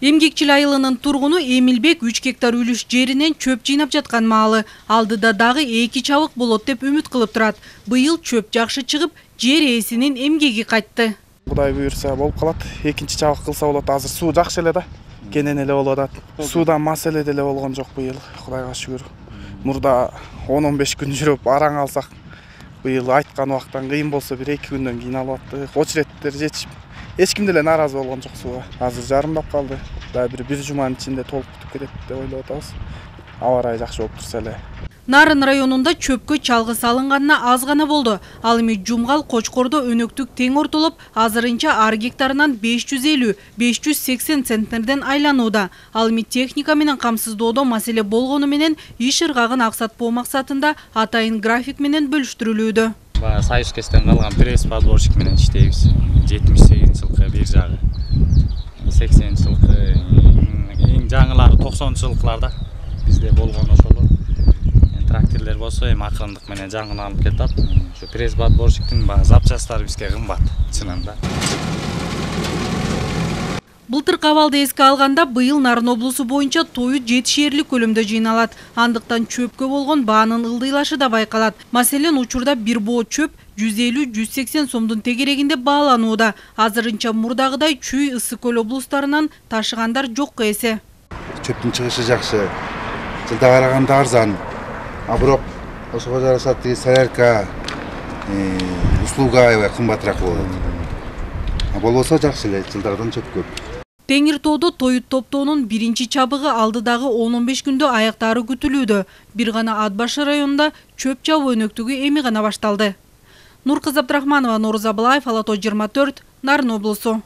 Эмгекчил айылынын тургуну Эмилбек 3 гектар үлүш жеринен чөп жыйнап жаткан маалы. Алдыда дагы 2 чабык болот деп үмүт кылып турат. Быйыл чөп жакшы чыгып, жер ээсинин эмгеги кайтты. Кудай буйрса болуп калат. Экинчи чабык кылса болот. Азыр суу жакшы эле да. Кенен эле болуп атат. Суудан маселе деле болгон жок быйыл. Кудайга шүгүр. Мурда 10-15 күн жүрүп араң алсак, быйыл айткан убактан кыйын болсо 1-2 күндөн кийин алып аттык. Очереттер жетишип, эч ким деле нааразы болгон жок сууга. Азыр жарымдап калды. Дагы бир жуманын ичинде толук бүтүп кетет деп ойлоп атабыз. Аба ырайы жакшы болуп турса эле. Нарын районунда чөпкө чалгы салынганына аз гана болду. Ал эми Жумгал, Кочкордо өнөктүк тең ортолуп, азырынча ар гектарынан 550-580 центнерден айланууда. Ал эми техника менен камсыздоодо маселе болгону менен иш ыргагын аксатпоо максатында атайын график менен бөлүштүрүлүүдө. Союз кестен калган пресс-подборщик менен иштейбиз. 78-жылкы бир жагы, 80-жылкы, эң жаңылары 90-жылкыларда бизде болгон ошолор. Трактирлер болсо эми акырындык менен жаңыланып кетет. Ошо пресс-подборщиктин запчасттары бизге кымбат, чынында. Былтыркы абалды эске алганда, быйыл Нарын облусу боюнча тою жетишээрлик көлөмдө жыйналат. Андыктан чөпкө болгон баанын ылдыйлашы да байкалат. Маселен, учурда бир боо чөп 150-180 сомдун тегерегинде бааланууда. Азырынча мурдагыдай Чүй, Ысык көл облустарынан ташыгандар жокко эсе. Чөптүн чыгышы жакшы, жылда караганда арзан. А бирок ошого жараша солярка, услуга кымбатыраак болот. Болбосо жакшы эле, жылдардан чөп көп. Теңир тоодо тоют топтоонун биринчи чабыгы алдыдагы 10-15 күндө аяктаары күтүлүүдө. Бир гана Ат башы районунда чөп чабуу өнөктүгү эми гана башталды. Нуркызы Абдрахманова, Нооруз Абылаев, Ала тоо 24, Нарын облусу.